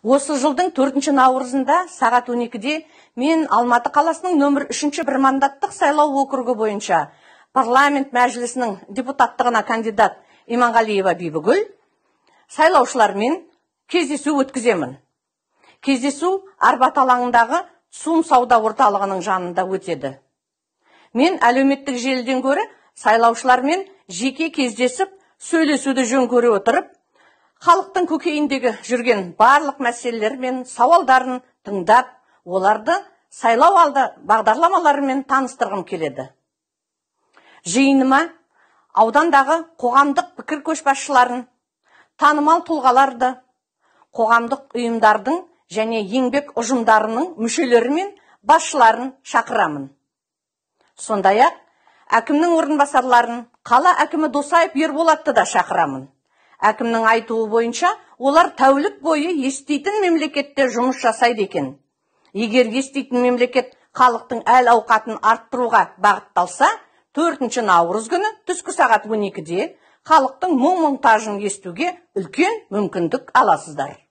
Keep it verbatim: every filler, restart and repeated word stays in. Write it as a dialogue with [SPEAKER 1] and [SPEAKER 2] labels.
[SPEAKER 1] Осы жылдың төртінші наурызында сағат он екіде мен Алматы қаласының нөмір үшінші бір мандаттық сайлау округі бойынша парламент мәжілісінің депутаттығына кандидат Иманғалиева Бибігүл сайлаушылармен кездесу өткіземін. Кездесу Арбат алаңындағы Сум сауда орталығының жанында өтеді. Мен әлеуметтік желіден гөрі сайлаушылармен жеке кездесіп, сөйлесуді жөн көре отырып, халықтың көкейіндегі жүрген барлық мәселелер мен сауалдарын тыңдап, оларды сайлау алды бағдарламаларымен таныстырғым келеді. Жиыныма аудандағы қоғамдық пікір көшбасшыларын, танымал тұлғаларды, қоғамдық ұйымдардың және еңбек ұжымдарының мүшелері мен басшыларын шақырамын. Сондай-ақ әкімнің орынбасарларын, қала әкімі Досаев Ерболатты да шақырамын. Әкімнің айтуы бойынша, олар тәулік бойы еститін мемлекетте жұмыс жасайды екен. Егер еститін мемлекет халықтың әл ауқатын арттыруға бағытталса, төртінші наурыз күні түскі сағат он екіде халықтың мұң-мұқтажын естуге үлкен мүмкіндік аласыздар.